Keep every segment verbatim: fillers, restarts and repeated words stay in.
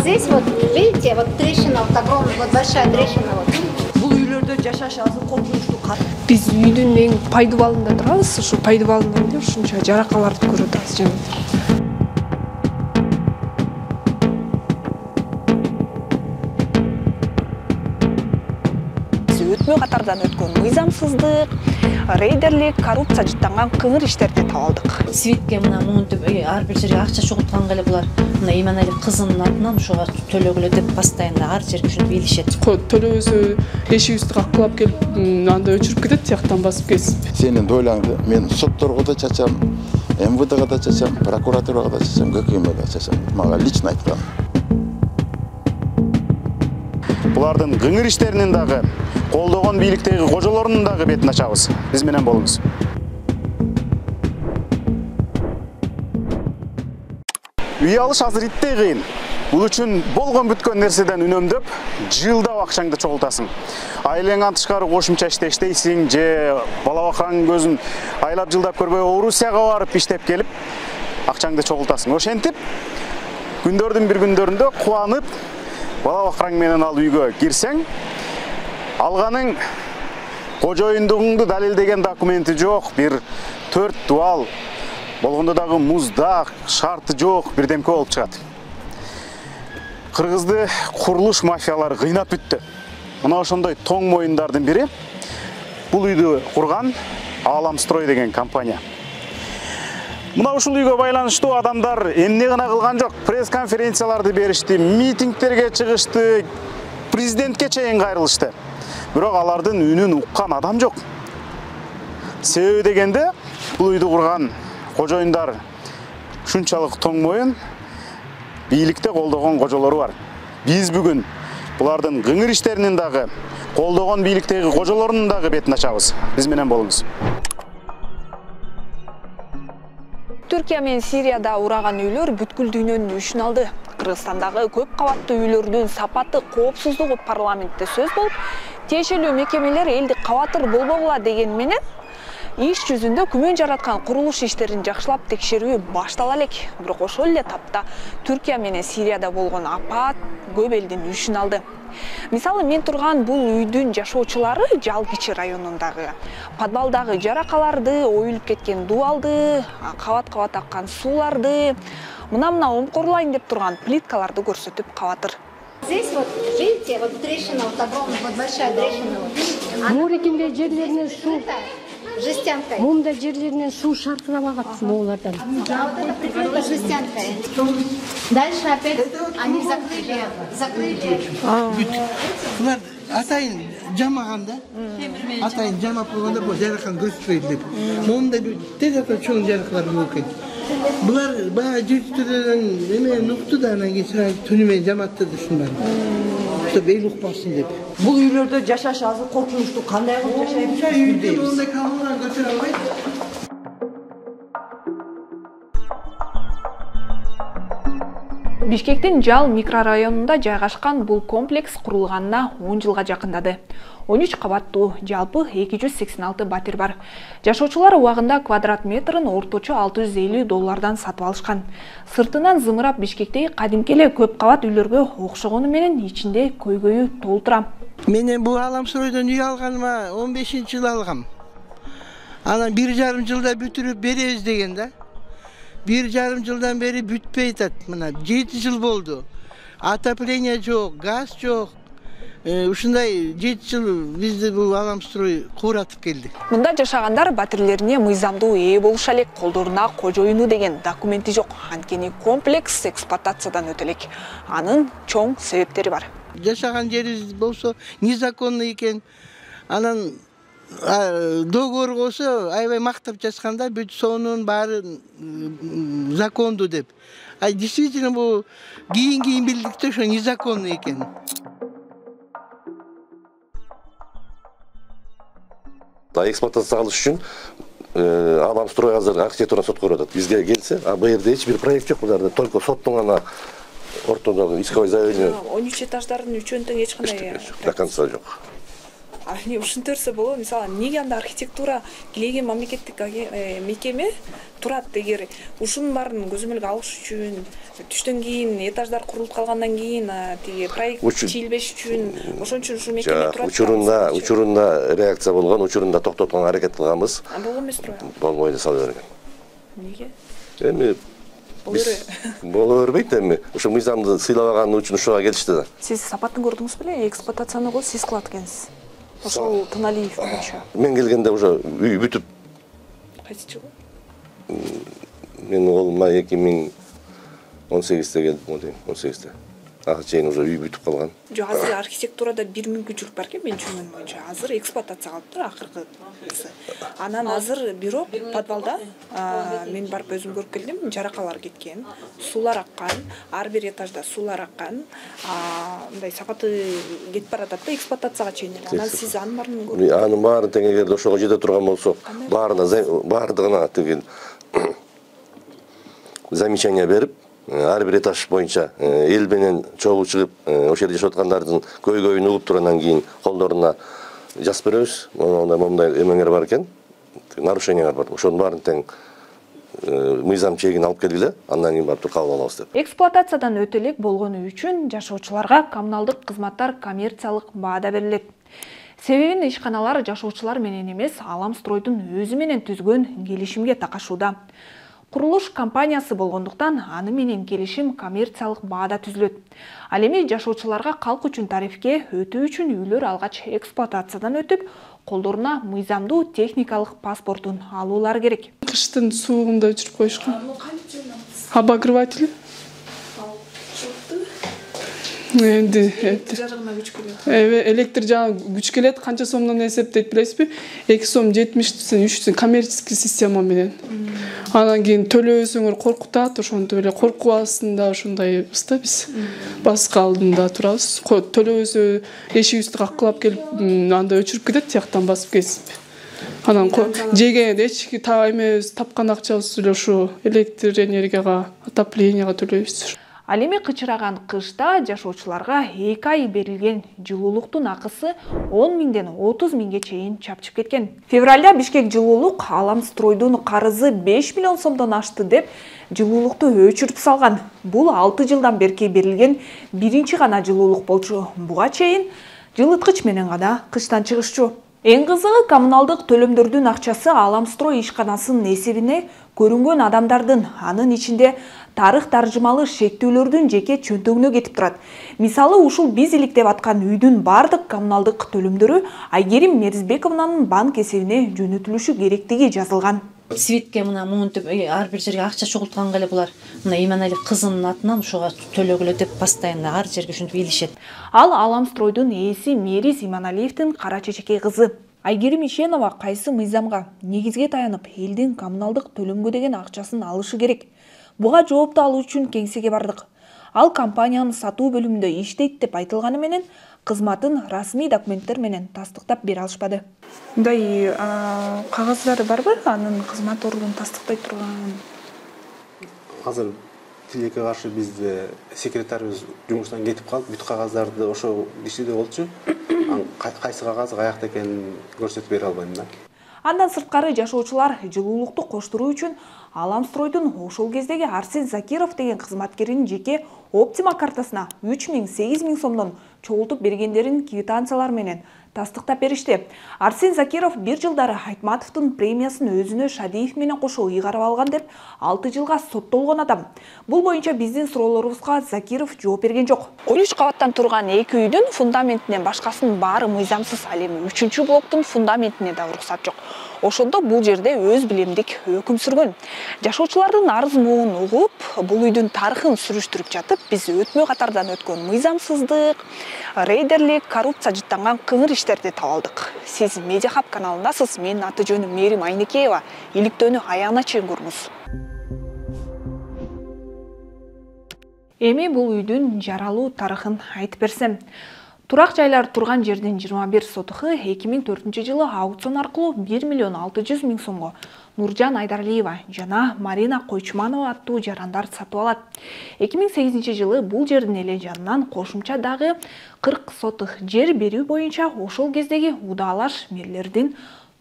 Здесь вот, видите, вот трещина, вот огромная, вот большая трещина. Вот. Бул үйлөрдө жашаш азыр коркунучтуу кат. Биз үйдүн эң пайдубалында турабыз. Ушу пайдубалында эле ушунча жаракаларды көрүп атабыз жана. Өтмө катардан өткөн мыйзамсыздык, рейдерлик, коррупция жыттанган кыңыр иштерди табалдык. Свитке мына мынтип ар бир жерге акча чогултканга эле булар мына Иманали кызынын атынан ушуга төлөгүлө деп постоянно ар жерге ушинтип илишет. Төлөбөсө эшигибизди какылап келип, анда өчүрүп кетет, тияктан басып кесип. Сенин дойлаңды мен сотторго да чачам, эм вэ дэга да чачам, прокуратурага да чачам, гэ ка эмге да чачам. Мага лично айткан. Булардын кыңыр иштеринин дагы, колдогон бийликтеги кожолорунун дагы бетин ачабыз. Биз менен болуңуз. Үй алыш азыр иттей кыйын. Бул үчүн болгон бүткөн нерседен үнөмдөп, жылдап акчаңды чогултасың. Айлаңан тышкары кошумча иште иштейсиң, же бала бакыраңдын көзүн айлап жылдап көрбөй Орусияга барып иштеп келип, акчаңды чогултасың. Ошентип, күндөрдүн бир күндөрүндө кубанып, бала бакыраң менен ал үйгө кирсең, алганың кожоюндугуңду далилдеген документи жок, бир төрт дуал, болгондо дагы муздак, шарты жок, бирдемке болуп чыгат. Кыргызды курулуш мафиялары кыйнап бүттү. Мына ошондой тоң моюндардын бири бул үйдү курган Аламстрой деген компания. Мына ушул үйгө байланыштуу адамдар эмне гана кылган жок, пресс-конференцияларды беришти, митингтерге чыгышты, президентке чейин кайрылышты. Бирок алардын үнүн уккан адам жок. Себеби дегенде, бул үйдү курган кожоюндар шунчалык тоң моюн, бийликте колдогон кожолору бар. Биз бүгүн булардын кыңыр иштеринин дагы, колдогон бийликтеги кожолорунун дагы бетин ачабыз. Биз менен болуңуз. Түркия менен Сирияда ураган үйлөр бүткүл дүйнөнүн үшүн алды. Кыргызстандагы көп кабаттуу үйлөрдүн сапаты, коопсуздугу парламентте сөз болуп, тиешелүү мекемелер элди кабатыр болбогула деген менен иш жүзүндө күмөн жараткан курулуш иштерин жакшылап текшерүү баштала элек. Бирок ошол эле тапта Түркия менен Сирияда болгон апат көп элдин үшүн алды. Мисалы, мен турган бул үйдүн жашоочулары Жалгичи районундагы подвалдагы жаракаларды, оюлуп кеткен дуалды, кабат-кабат аккан сууларды, мына-мына омкорлайын деп турган плиткаларды көрсөтүп кабатыр. Здесь вот, видите, вот трещина, вот огромная, вот большая трещина. Вот. Мурекинде жерлеринен суу, жестянкой. мумда жерлеринен суу шартырап агат моулардан. А вот это прикрыто жестянкой. Дальше опять они закрыли, закрыли. Булар атайын жамаган да. Атайын жамап койгондо бул жаракан көрсөтпөйт деп. Мумда тез ата чоң жараклар болуп кетти. Булар баягы жертөлөрдөн эме укту да анан кийин түнү менен жаматтырды ушундан. Чтоб эл укпасын деп. Бул үйлөрдө жашаш азыр коркунучтуу, кандай кылып жашайбыз? Үйдө мындай калган көтөрө албайт. Бишкектин Жал микрорайонунда жайгашкан бул комплекс курулганына он жылга жакындады. он үч кабаттуу, жалпы эки жүз сексен алты батир бар. Жашоочулар убагында квадрат метрин орточо алты жүз элүү доллардан сатып алышкан. Сыртынан зымырап Бишкектеги кадимки эле көп кабат үйлөргө окшогону менен ичинде көйгөйү толтура. Менен бул Аламстройдон үй алганыма он бешинчи жыл алгам. Анан бир жарым жылда бүтүрүп беребиз деген да. Бир жарым жылдан бери бүтпөй атат. Мына жети жыл болду. Отопление жок, газ жок. Ушундай жети жыл бизди бул Аламстрой кууратып келди. Мында жашагандар батирлерине мыйзамдуу ээ болуша элек, колдоруна кожоюну деген документи жок. Анткени комплекс эксплуатациядан өтө элек. Анын чоң себептери бар. Жашаган жерибиз болсо незаконный экен. Анан договор болсо аябай мактап жазганда бүт сонун баары закондуу деп. А действительно бул кийин кийин билдик да ошо незаконный экен. Эксплуатация кылыш үчүн Аламстрой азыр архитектура сот көрүп атат. Бизге келсе, а бу жерде эч бир проект жок, буларда только соттун гана ортодогу исковой заявление. он үч этаждардын үчөөнү тең эч кандай до конца жок. А эмне ушинтерсе болот, мисалы, эмнеге анда архитектура килеген мамлекеттик мекеме турат эгер ушунун баарын көзөмөлгө алыш үчүн, түштөн кийин этаждар курулуп калгандан кийин тиги проект чийилбеш үчүн, ошон үчүн ушул мекеме турат. Учурунда, учурунда реакция болгон, учурунда токтотконго аракет кылганбыз. Болгон эмес турбайбы? Болбойт сала берген. Эмнеге? Эми боло бербейт эми. Ошо мыйзамды сыйлабаган үчүн ушуга келишти да. Сиз сапатын көрдүңүз беле? Эксплуатацияны сиз кылат экенсиз. Ошол Туналиев боюнча. Мен келгенде уже үй бүтүп. Кайсы жылы? Мен колума эки миң он сегизде келдим, он сегизде. Ага чейин уже үй бүтүп калган. Жок, азыр архитектурада бир мүмкүнчүлүк бар экен, мен түшүнгөнүм боюнча. Азыр эксплуатация кылыптыр акыркысы. Анан азыр бирок подвалда мен барып өзүм көрүп келдим, жаракалар кеткен, суулар аккан, ар бир этажда суулар аккан, мындай сапаты кетип баратат да эксплуатацияга чейин. Анан сиз анын баарын көрдүңүз. Анын баарын тең эгерде ошого жете турган болсок, баарына баардыгына тиги замечание берип, ар бир этаж боюнча эл менен чогуу чыгып, ошол жерде жашап аткандардын көйгөйүн угуп туруп кийин колдоруна жазып беребиз. Мондай мондай эмеңер бар экен, нарушениялар бар. Ошонун баарын тең мыйзам чегин алып келгиле, андан кийин барып кабыл алабыз деп. Эксплуатациядан өтө элек болгону үчүн жашоочуларга коммуналдык кызматтар коммерциялык баада берилет. Себебин ишканалар жашоочулар менен эмес, Аламстройдун өзү менен түзгөн келишимге такашууда. Курулуш компаниясы болгондуктан аны менен келишим коммерциялык баада түзүлөт. Ал эми жашоочуларга калк үчүн тарифке өтүү үчүн үйлөр алгач эксплуатациядан өтүп, колдоруна мыйзамдуу техникалык паспортун алуулары керек. Кыштын суугунда өчүрүп коюшкан. Обогреватель. Энди жарыгына күч келет. Эбе электр жагы күч келет, канча сомдон эсептейт билесизби? эки сом жетимиш үч коммерческий система менен. Анан кийин төлөбөсөңөр коркутат, ошентип эле коркуп астында ошондойбуз да биз. Баска алдында турабыз. Төлөбөсө эшигибизди каккылап келип, анда өчүрүп кетет, тияктан басып кесип. Анан жегенде эчки эме тапкан акчабыз эле ушу электр энергияга, отопленияга төлөйбүз. Ал эми кычыраган кышта жашоочуларга эки ай берилген жылуулуктун акысы он миңден отуз миңге чейин чапчып кеткен. Февралда Бишкек жылуулук Аламстройдун карызы беш миллион сомдон ашты деп жылуулукту өчүрүп салган. Бул алты жылдан берки берилген биринчи гана жылуулук болчу. Буга чейин жылыткыч менен гана кыштан чыгышчу. Эң кызыгы, коммуналдык төлөмдөрдүн акчасы Аламстрой ишканасынын эсебине көрүнгөн адамдардын, анын ичинде тарых таржымалы шектүүлөрдүн жеке чөнтөгүнө кетип турат. Мисалы, ушул биз иликтеп аткан үйдүн бардык коммуналдык төлөмдөрү Айгерим Мерзбековнанын банк эсебине жөнөтүлүшү керектиги жазылган. Светке мына муунтип ар бир жерге акча чогулткан эле булар. Мына Иманали кызынын атынан ушуга төлөгүлө деп постоянно ар жерге ушинтип илишет. Ал Аламстройдун ээси Мериз Иманалиевдин кара чечекей кызы. Айгерим Ишенова кайсы мыйзамга негизге таянып элдин коммуналдык төлөмгө деген акчасын алышы керек? Буга жоопту алуу үчүн кеңсеге бардык. Ал компаниянын сатуу бөлүмүндө иштейт деп айтылганы менен кызматын расмий документтер менен тастыктап бере алышпады. Мындай кагаздары барбы? Анын кызмат ордун тастыктай турган. Азыр тилекке каршы бизде секретарыбыз жумуштан кетип калып, бүт кагаздарды ошо кишиде болчу. Кайсы кагаз каякта экенин көрсөтүп бере албайм да. Андан сырткары жашоочулар жылуулукту коштуруу үчүн Аламстройдун ошол кездеги Арсен Закиров деген кызматкеринин жеке Оптима картасына үч миң сегиз миң сомдон чогултуп бергендерин квитанциялар менен тастыктап беришти. Арсен Закиров бир жылдары Айтматовдун премиясын өзүнө Шадиев менен кошо ыйгарып алган деп алты жылга соттолгон адам. Бул боюнча биздин суроолорубузга Закиров жооп берген жок. он үч кабаттан турган эки үйдүн фундаментинен башкасынын баары мыйзамсыз. Ал эми үчүнчү блоктун фундаментине да уруксат жок. Ошондо бул жерде өз билемдик өкүм сүргөн. Жашоочулардын арыз муун угуп, бул үйдүн тарыхын сүрүштүрүп жатып, биз өтмө катардан өткөн мыйзамсыздык, рейдерлик, коррупция жыттанган кыңыр иштерди таап алдык. Сиз Медиахаб каналындасыз. Менин аты жөнүм Мерим Айнекеева. Иликтөөнү аягына чейин көрүңүз. Эми бул үйдүн жаралуу тарыхын айтып берсем. Турак жайлар турган жердин жыйырма бир сотуху эки миң төртүнчү жылы аукцион аркылуу бир миллион алты жүз миң сомго Нуржан Айдаралиева жана Марина Койчуманова аттуу жарандар сатып алат. эки миң сегизинчи жылы бул жердин эле жанынан кошумча дагы кырк сотух жер берүү боюнча ошол кездеги удаалаш мэрлердин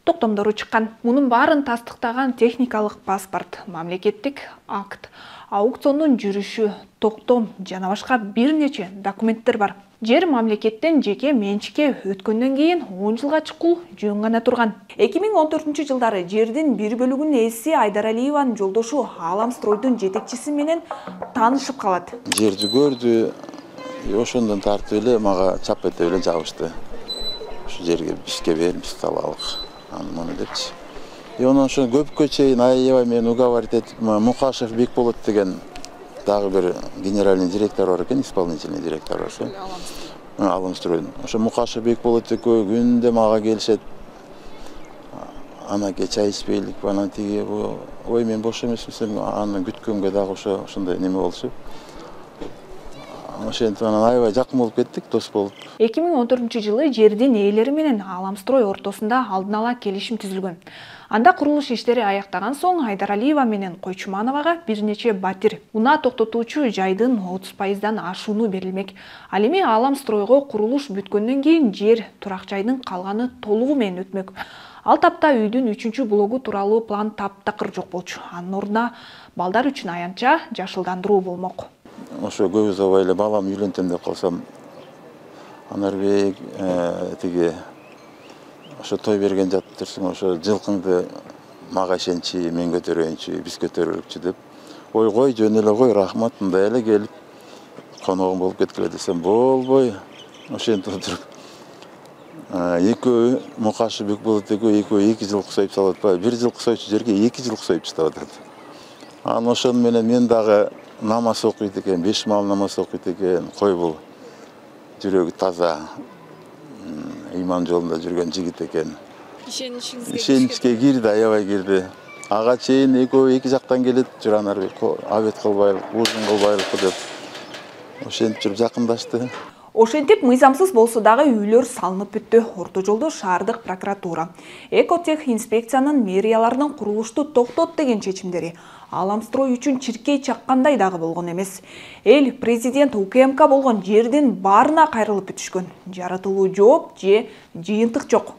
токтомдору чыккан. Мунун баарын тастыктаган техникалык паспорт, мамлекеттик акт, аукциондун жүрүшү, токтом жана башка бир нече документтер бар. Жер мамлекеттен жеке менчикке өткөндөн кийин он жылга чукул жөн гана турган. эки миң он төртүнчү жылдары жердин бир бөлүгүнүн ээси Айдаралиеванын жолдошу Аламстройдун жетекчиси менен таанышып калат. Жерди көрдү, ошондон тартып эле мага чап этеп эле жабышты. Ушу жерге бизге бер, биз алалык. Аны муну депчи. И онун ошо көпкө чейин аябай мени уговорить этип, Мукашев Бекболот деген дагы бир генеральный директор бар экен, исполнительный директор ошо. Аламстройдун. Ошо Мукашев Бекболот экөө күндө мага келишет. Анаке чай ичпейлик, анан тиги, ой мен бош эмесмисем, аны күткөнгө дагы ошо ошондой неме болчу. Ошентип анан аябай жакын болуп кеттик, дос болуп. эки миң он төртүнчү жылы жердин ээлери менен Аламстрой ортосунда алдын ала келишим түзүлгөн. Анда курулуш иштери аяктаган соң Айдаралиева менен Койчумановага бир нече батир унаа токтотуучу жайдын отуз пайыздан ашууну берилмек. Ал эми Аламстройго курулуш бүткөндөн кийин жер турак жайдын калганы толугу менен өтмөк. Ал тапта үйдүн үчүнчү блогу тууралуу план таптакыр жок болчу. Анын ордуна балдар үчүн аянтча жашылдандыруу болмок. Ошо көп узабай эле балам үйлөнтөм деп калсам, Анарбек тиги ошо той берген жатып турсуң, ошо жылкыңды мага ишенчи, мен көтөрөйүнчү, биз көтөрөлүкчү деп. Ой кой, жөн эле кой, рахмат, мындай эле келип коногум болуп кеткиле десем, болбой. Ошентип отуруп экөө Мукашев Бекболот экөө экөө эки жылкы союп салып атпайбы, бир жылкы союучу жерге эки жылкы союп таштап атат. Анан ошону менен мен дагы намаз окуйт экен, беш маал намаз окуйт экен. Кой бул жүрөгү таза, иман жолунда жүргөн жигит экен. Ишеничиңизге Ишеничке кирди, аябай кирди. Ага чейин экөө эки жактан келет, Журанарбек, абет кылбайлык, ужун кылбайлыкпы деп. Ошентип жүрүп жакындашты. Ошентип мыйзамсыз болсо дагы үйлөр салынып бүттү. Орто жолдо шаардык прокуратура, Экотех инспекциянын мэрияларынын курулушту токтот деген чечимдери Аламстрой үчүн чиркей чаккандай дагы болгон эмес. Эл президент УКМК болгон жердин баарына кайрылып бүтүшкөн. Жаратылуу жооп же жыйынтык жок.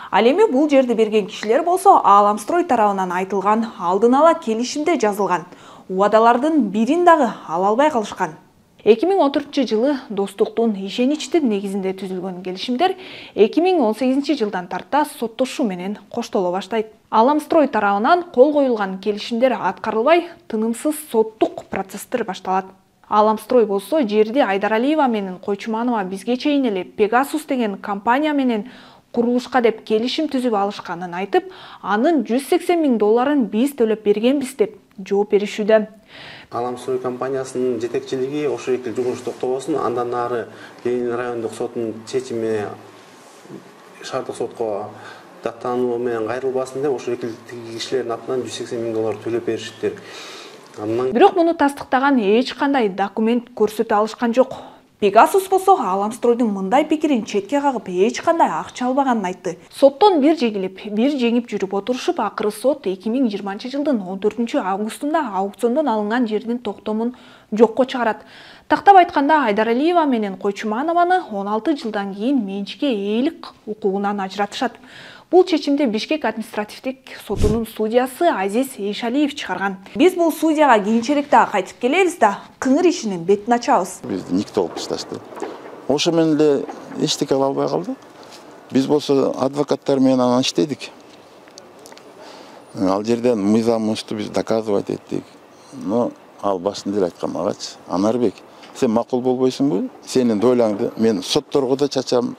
Ал эми бул жерди берген кишилер болсо Аламстрой тарабынан айтылган алдын ала келишимде жазылган убадалардын бирин дагы ала албай калышкан. эки миң он төртүнчү жылы достуктун ишеничтин негизинде түзүлгөн келишимдер эки миң он сегизинчи жылдан тарта соттошуу менен коштоло баштайт. Аламстрой тарабынан кол коюлган келишимдер аткарылбай, тынымсыз соттук процесстер башталат. Аламстрой болсо жерди Айдаралиева менен Койчуманова бизге чейин эле Pegasus деген компания менен курулушка деп келишим түзүп алышканын айтып, анын жүз сексен миң долларын биз төлөп бергенбиз деп жооп беришүүдө. Аламстрой компаниясынын жетекчилиги ошо эки жумуш токтобосун, андан нары Ленин райондук соттун чечими шаардык сотко даттануу менен кайрылбасын деп ошо эки кишилердин атынан жүз сексен миң доллар төлөп беришиптир. Бирок муну тастыктаган эч кандай документ көрсөтө алышкан жок. Pegasus болсо Аламстройдун мындай пикирин четке кагып эч кандай акча албаганын айтты. Соттон бир жеңилип, бир жеңип жүрүп отурушуп, акыры сот эки миң жыйырманчы жылдын он төртүнчү августунда аукциондон алынган жердин токтомун жокко чыгарат. Тактап айтканда Айдаралиева менен Койчуманованы он алты жылдан кийин менчикке ээлик укугунан ажыратышат. Бул чечимди Бишкек административдик сотунун судьясы Азиз Эйшалиев чыгарган. Биз бул судьяга кийинчерээк дагы кайтып келебиз да, кыңыр ишинин бетин ачабыз. Бизди никто кылып ташташты. Ошо менен эле эчтеке ала албай калды. Биз болсо адвокаттар менен анан иштедик. Ал жерден мыйзамыбызды биз доказывать эттик. Но ал башында эле айткан магачы, Анарбек, сен макул болбойсуңбу? Сенин дойлаңды мен сотторго да чачам,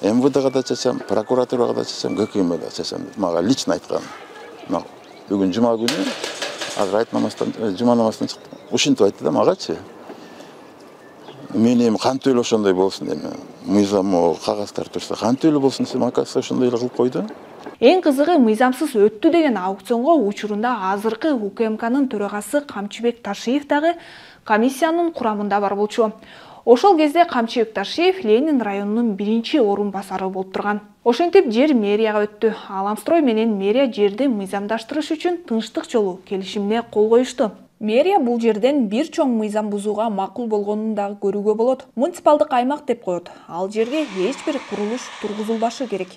эм вэ дэга да чачам, прокуратурага да чачам, гэ ка эм ге да чачам деп мага лично айткан. Бүгүн жума күнү азыр айт намаздан, жума намаздан чыкты. Ушинтип айтты да магачы. Мен эми кантип эле ошондой болсун эми. Мыйзам кагаздар турса кантип эле болсун десем, акасы ошондой эле кылып койду. Эң кызыгы мыйзамсыз өттү деген аукционго учурунда азыркы УКМКнын төрагасы Камчыбек Ташиев дагы комиссиянын курамында бар болчу. Ошол кезде Камчы Ыкташиев Ленин районунун биринчи орун басары болуп турган. Ошентип жер мэрияга өттү. Аламстрой менен мэрия жерди мыйзамдаштырыш үчүн тынчтык жолу келишимине кол коюшту. Мэрия бул жерден бир чоң мыйзам бузууга макул болгонун дагы көрүүгө болот. Муниципалдык аймак деп коет. Ал жерге эч бир курулуш тургузулбашы керек.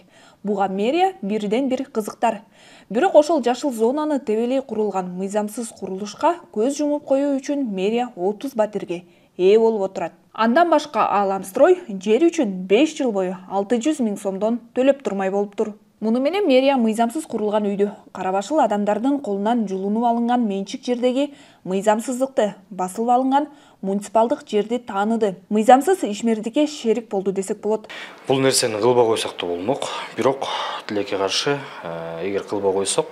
Буга мэрия бирден бир кызыктар. Бирок ошол жашыл зонаны тебелей курулган мыйзамсыз курулушка көз жумуп коюу үчүн мэрия отуз батирге ээ болуп отурат. Андан башка Аламстрой жер үчүн беш жыл бою алты жүз миң сомдон төлөп турмай болуптур. Муну менен мэрия мыйзамсыз курулган үйдү, карабашыл адамдардын колунан жулунуп алынган менчик жердеги мыйзамсыздыкты, басылып алынган муниципалдык жерди тааныды. Мыйзамсыз ишмердикке шерик болду десек болот. Бул нерсени кылбай койсок да болмок. Бирок тилекке каршы, эгер кылбай койсок,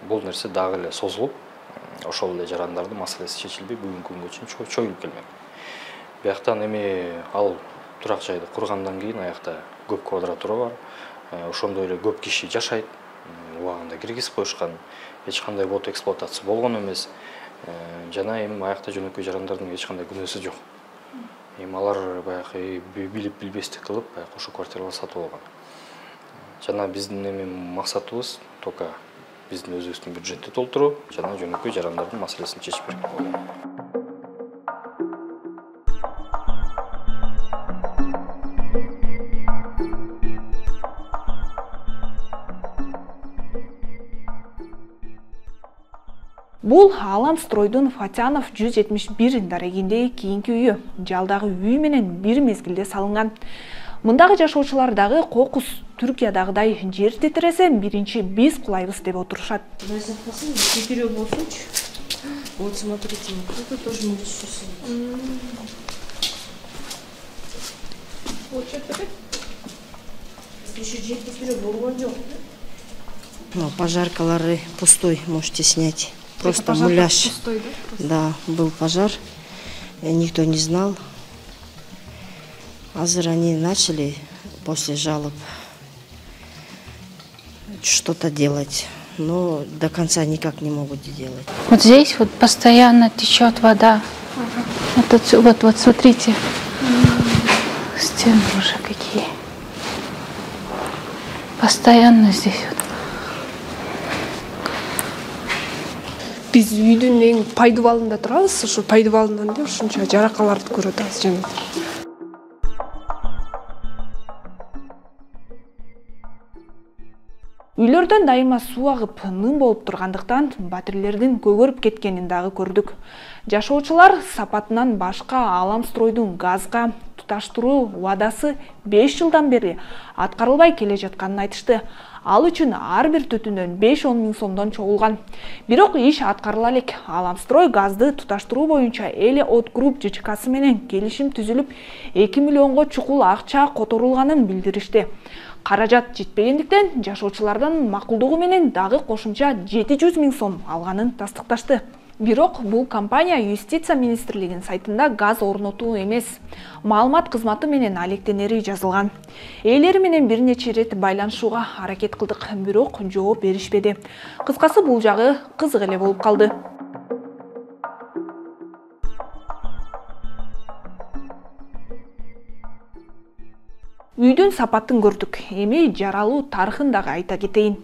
бул нерсе дагы эле созулуп, ошол эле жарандардын маселеси чечилбей бүгүнкү күнгө чейин чоюлуп келмек. Бияктан эми ал турак жайды кургандан кийин аякта көп квадратура бар. Ошондой эле көп киши жашайт. Убагында киргизип коюшкан. Эч кандай бот эксплуатация болгон эмес. Жана эми аякта жөнөкөй жарандардын эч кандай күнөөсү жок. Эми алар баягы билип билбестик кылып, баягы ошо квартиралар сатып алган. Жана биздин эми максатыбыз только биздин өзүбүздүн бюджетти толтуруу жана жөнөкөй жарандардын маселесин чечип берүү. Бул Аламстройдун Фатянов жүз жетимиш бир дарегиндеги кийинки үйү, жалдагы үй менен бир мезгилде салынган. Мындагы жашоочулар дагы кокус Түркиядагыдай жер тетиресе биринчи биз кулайбыз деп отурушат. Четыре болсунчу. Вот смотрите, это тоже может сейчас. Еще жер тетире болгон жок. Ну, пожаркалары пустой, можете снять. Просто муляж. Пустой, да? Да, был пожар, никто не знал. Азыр они начали после жалоб что-то делать, но до конца никак не могут делать. Вот здесь вот постоянно течет вода. Ага. Вот, отсюда, вот, вот смотрите, м-м. Стены уже какие. Постоянно здесь вот. Биз үйдүн эң пайдубалында турабыз, ошо пайдубалынан эле ушунча жаракаларды көрүп атабыз жана. Үйлөрдөн дайыма суу агып, ным болуп тургандыктан батирлердин көгөрүп кеткенин дагы көрдүк. Жашоочулар сапатынан башка Аламстройдун газга туташтыруу убадасы беш жылдан бери аткарылбай келе жатканын айтышты. Ал үчүн ар бир түтүндөн беш он миң сомдон чогулган. Бирок иш аткарыла элек. Аламстрой газды туташтыруу боюнча Эле От Групп ЖЧКсы менен келишим түзүлүп, эки миллионго чукул акча которулганын билдиришти. Каражат жетпегендиктен жашоочулардан макулдугу менен дагы кошумча жети жүз миң сом алганын тастыкташты. Бирок бул компания Юстиция министрлигинин сайтында газ орнотуу эмес, маалымат кызматы менен алектенери жазылган. Ээлери менен бир нече ирет байланышууга аракет кылдык, бирок жооп беришпеди. Кыскасы бул жагы кызык эле болуп калды. Үйдүн сапатын көрдүк. Эми жаралуу тарыхын дагы айта кетейин.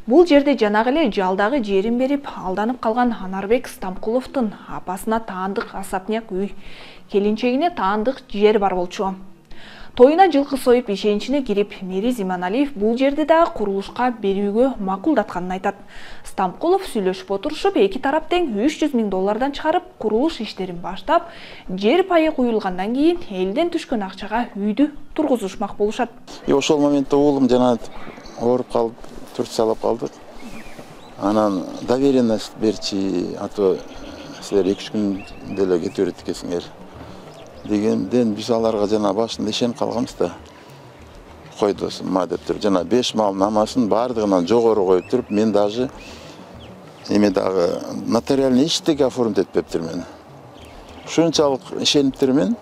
Бул жерде жанагы эле жалдагы жерин берип алданып калган Анарбек Стамкуловдун апасына таандык особняк үй, келинчегине таандык жер бар болчу. Тоюна жылкы союп ишеничине кирип, Мэри Зиманалиев бул жерди дагы курулушка берүүгө макулдатканын айтат. Стамкулов сүйлөшүп отурушуп, эки тарап тең үч жүз миң доллардан чыгарып, курулуш иштерин баштап, жер пайы куюлгандан кийин элден түшкөн акчага үйдү тургузушмак болушат. И ошол моментте уулум жана ооруп калып, Турциялап калдык. Анан доверенность берчи, а то силер эки үч күн деле кете берет экенсиңер дегенден биз аларга жана башында ишенип калганбыз да. Кой досум, ма деп туруп, жана беш мал намасын бардыгынан жогору коюп туруп, мен даже эме дагы нотариальный иштеги оформить этпептирмин. Ушунчалык ишениптирмин.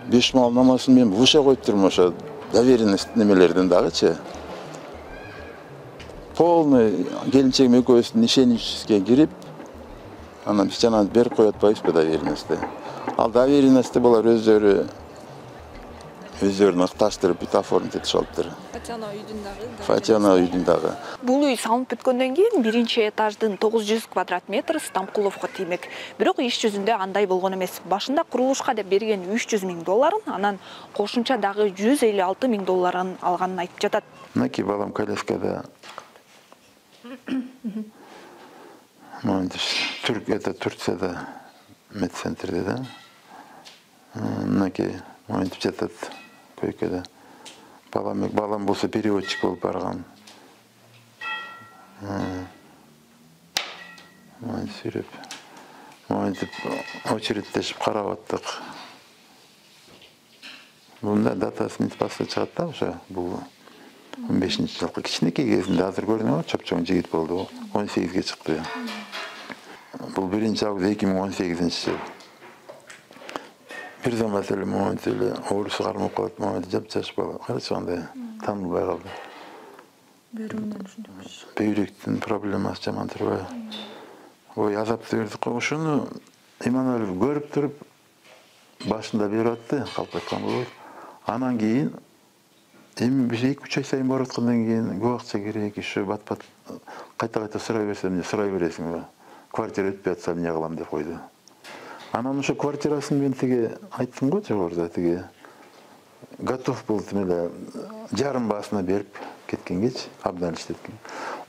Беш мал намасын мен буша коюп турмун, ошо доверенность немелерден дагычы. Полный келинчегим экөөбүздүн ишеничибизге кирип, анан биз жана берип коюп атпайбызбы доверенностьти. Ал доверенности булар өздөрү өздөрүн ыкташтырып бүт оформить этип алыптыр. Фатиана үйдүн дагы. Фатиана үйдүн дагы. Бул үй салынып бүткөндөн кийин биринчи этаждын тогуз жүз квадрат метр Стамкуловго тиймек. Бирок иш жүзүндө андай болгон эмес. Башында курулушка деп берген үч жүз миң долларын, анан кошумча дагы жүз элүү алты миң долларын алганын айтып жатат. Мынакей балам коляскада. Түрк это Турцияда медцентрде да. Мынакей монтип жатат койкада. Балам балам болсо переводчик болуп барган. Мын сүрөп. Монтип очередтешип карап аттык. Бунда датасы мынтип басып чыгат да, ошо бул он бешинчи жылкы кичинекей кезинде азыр көрдүңүзбү, чоп-чоң жигит болду. он сегизге чыкты. Бул биринчи август эки миң он сегизинчи жыл. Бир замат эле момент эле оорусу кармап калат, момент жап-жаш бала. Карачы кандай таанылбай калды. Бөйрөгүнөн ушундай. Бөйрөктүн проблемасы жаман турбайбы? Ой, азапты бердик го. Ошону Иманалиев көрүп туруп башында берип атты, калп айткан болот. Анан кийин эми бир эки үч ай сайын барып аткандан кийин көп акча керек, иши бат-бат кайта-кайта сурай берсем, эмне сурай бересиңби? Квартира өтпөй атса эмне кылам деп койду. Анан ошо квартирасын мен тиги айттым го жогоруда, тиги готов болдум эле жарым баасына берип кеткенгечи, абдан иштеткен.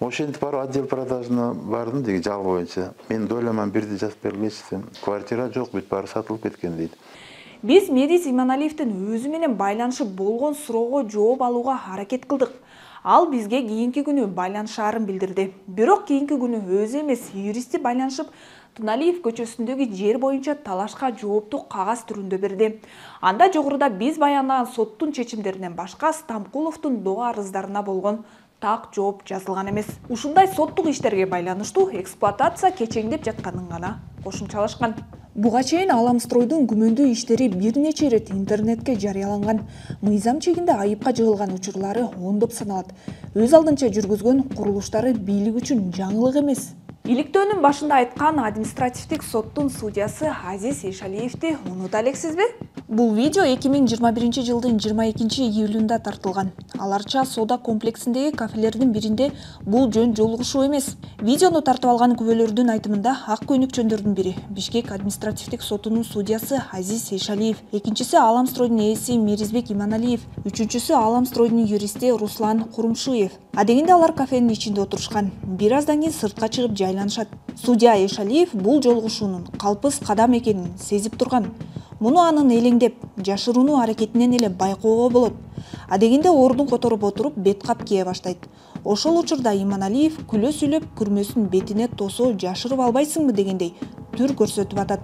Ошентип барып отдел продажына бардым, тиги жалгы боюнча. Мен дойламан бирди жазып бергилечи десем, квартира жок, бүт баары сатылып кеткен дейт. Биз Мериз Иманалиевдин өзү менен байланышып болгон суроого жооп алууга аракет кылдык. Ал бизге кийинки күнү байланышаарын билдирди. Бирок кийинки күнү өзү эмес, юристи байланышып Туналиев көчөсүндөгү жер боюнча талашка жоопту кагаз түрүндө берди. Анда жогоруда биз баяндаган соттун чечимдеринен башка Стамкуловдун доо арыздарына болгон так жооп жазылган эмес. Ушундай соттук иштерге байланыштуу эксплуатация кечеңдеп жатканын гана кошумчалашкан. Буга чейин Аламстройдун күмөндүү иштери бир нече ирет интернетке жарыяланган. Мыйзам чегинде айыпка жыгылган учурлары ондоп саналат. Өз алдынча жүргүзгөн курулуштары бийлик үчүн жаңылык эмес. Иликтөөнүн башында айткан административдик соттун судьясы Азиз Эшалиевди унута элексизби? Бул видео эки миң жыйырма биринчи жылдын жыйырма экинчи июлунда тартылган. Аларча соода комплексиндеги кафелердин биринде бул жөн жолугушуу эмес. Видеону тартып алган күбөлөрдүн айтымында ак көйнөкчөндөрдүн бири Бишкек административдик сотунун судьясы Азиз Эшалиев, экинчиси Аламстройдун ээси Меризбек Иманалиев, үчүнчүсү Аламстройдун юристи Руслан Курумшуев. Адегенде алар кафенин ичинде отурушкан. Бир аздан кийин сыртка чыгып жайланышат. Судья Эшалиев бул жолугушуунун калпыз кадам экенин сезип турган. Муну анын элеңдеп, жашыруунуу аракетинен эле байкоого болот. Адегенде ордун которуп отуруп бет кап кие баштайт. Ошол учурда Иманалиев күлө сүйлөп күрмөсүн бетине тосо жашырып албайсыңбы дегендей түр көрсөтүп атат.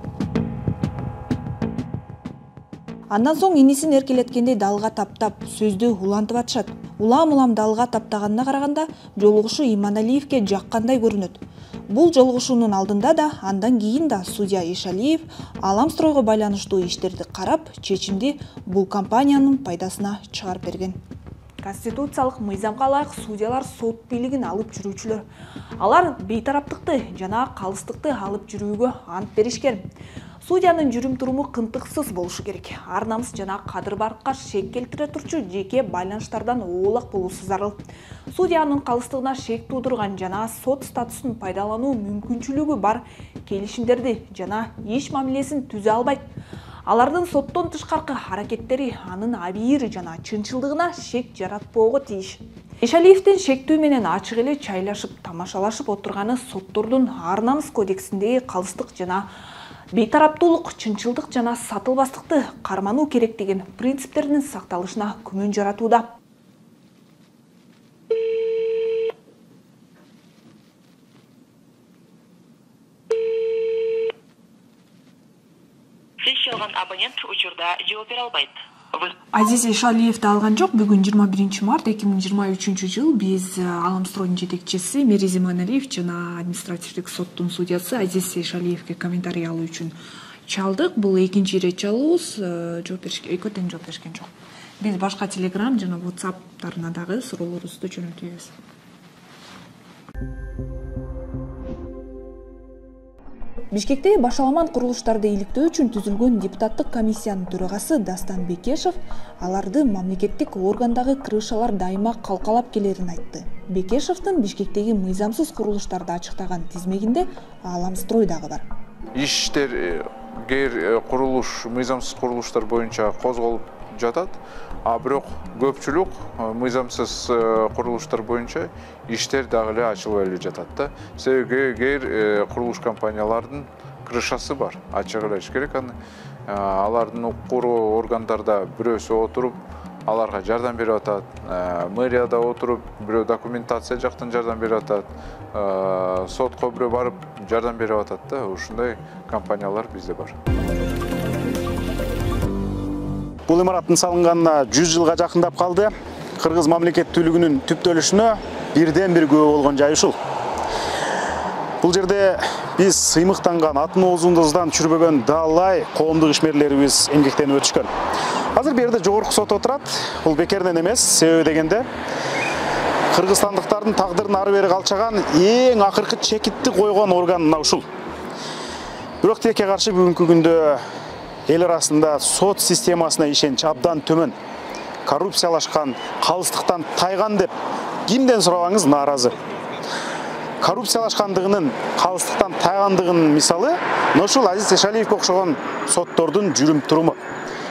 Андан соң инисин эркелеткендей далга таптап, сөздү улантып атышат. Улам-улам далга таптаганына караганда жолугушуу Иманалиевге жаккандай көрүнөт. Бул жолугушуунун алдында да, андан кийин да судья Эшалиев Аламстройго байланыштуу иштерди карап, чечимди бул компаниянын пайдасына чыгарып берген. Конституциялык мыйзамга ылайык судьялар сот бийлигин алып жүрүүчүлөр. Алар бейтараптыкты жана калыстыкты алып жүрүүгө ант беришкен. Судьянын жүрүм-туруму кынтыксыз болушу керек. Ар намыс жана кадыр-баркка шек келтире турчу жеке байланыштардан оолак болуусу зарыл. Судьянын калыстыгына шек туудурган жана сот статусун пайдалануу мүмкүнчүлүгү бар келишимдерди жана иш мамилесин түзө албайт. Алардын соттон тышкаркы аракеттери анын абийир жана чынчылдыгына шек жаратпоого тийиш. Эшалиевдин шектүү менен ачык эле чайлашып, тамашалашып отурганы соттордун ар намыс кодексиндеги калыстык жана бейтараптуулук, чынчылдык жана сатылбастыкты кармануу керек деген принциптердин сакталышына күмөн жаратууда. Сиз чалган абонент учурда жооп бере албайт. Азиз Эшалиевди алган жок. Бүгүн жыйырма биринчи март эки миң жыйырма үчүнчү жыл биз Аламстройдун жетекчиси Мериз Иманалиев жана административдик соттун судьясы Азиз Эшалиевге комментарий алуу үчүн чалдык. Бул экинчи ирет чалуубуз. Жооп беришке, экөө тең жооп беришкен жок. Биз башка Telegram жана WhatsApp'тарына дагы суроолорубузду жөнөтөбүз. Бишкекте башаламан курулуштарды иликтөө үчүн түзүлгөн депутаттык комиссиянын төрагасы Дастан Бекешев аларды мамлекеттик органдагы крышалар дайыма калкалап келерин айтты. Бекешевдин Бишкектеги мыйзамсыз курулуштарды ачыктаган тизмегинде Ааламстрой дагы бар. Иштер кээ курулуш мыйзамсыз курулуштар боюнча козголуп жатат, а бирок көпчүлүк мыйзамсыз курулуштар боюнча иштер дагы эле ачылбай эле жатат да. Себеби кээ курулуш компаниялардын крышасы бар, ачык эле айткыч керек. Аны алардын укуктуу органдарда бирөөсү отуруп аларга жардам берип атат, мэрияда отуруп бирөө документация жактан жардам берип атат, сотко бирөө барып жардам берип атат да. Ушундай компаниялар бизде бар. Бул имараттын салынганына жүз жылга жакындап калды. Кыргыз мамлекеттүүлүгүнүн түптөлүшүнө бирден бир күбө болгон жай ушул. Бул жерде биз сыймыктанган атын оозундуздан чүрбөгөн далай коомдук ишмерлерибиз эмгектенип өтүшкөн. Азыр бу жерде жогорку сот отурат. Бул бекерден эмес, себеби дегенде кыргызстандыктардын тагдырын ары бери калчаган эң акыркы чекитти койгон орган мына ушул. Бирок тилекке каршы бүгүнкү күндө эл арасында сот системасына ишенич абдан төмөн, коррупциялашкан, калыстыктан тайган деп кимден сурабаңыз нааразы. Коррупциялашкандыгынын, калыстыктан тайгандыгынын мисалы ошол Азиз Эшалиевге окшогон соттордун жүрүм туруму.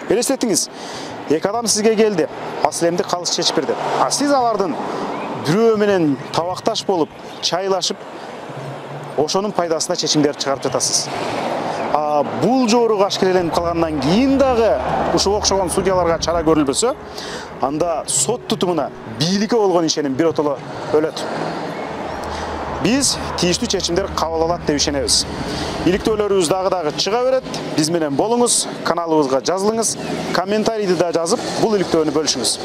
Элестетиңиз, эки адам сизге келди, маселемди калыс чечип берди. А сиз алардын бирөө менен табакташ болуп, чайлашып, ошонун пайдасына чечимдерди чыгарып жатасыз. А бул жору ашкереленип калгандан кийин дагы ушуга окшогон судьяларга чара көрүлбөсө, анда сот тутумуна, бийликке болгон ишеним биротоло өлөт. Биз тийиштүү чечимдер кабыл алат деп ишенебиз. Иликтөөлөрүбүз дагы дагы чыга берет. Биз менен болуңуз, каналыбызга жазылыңыз, комментарийди да жазып, бул иликтөөнү бөлүшүңүз.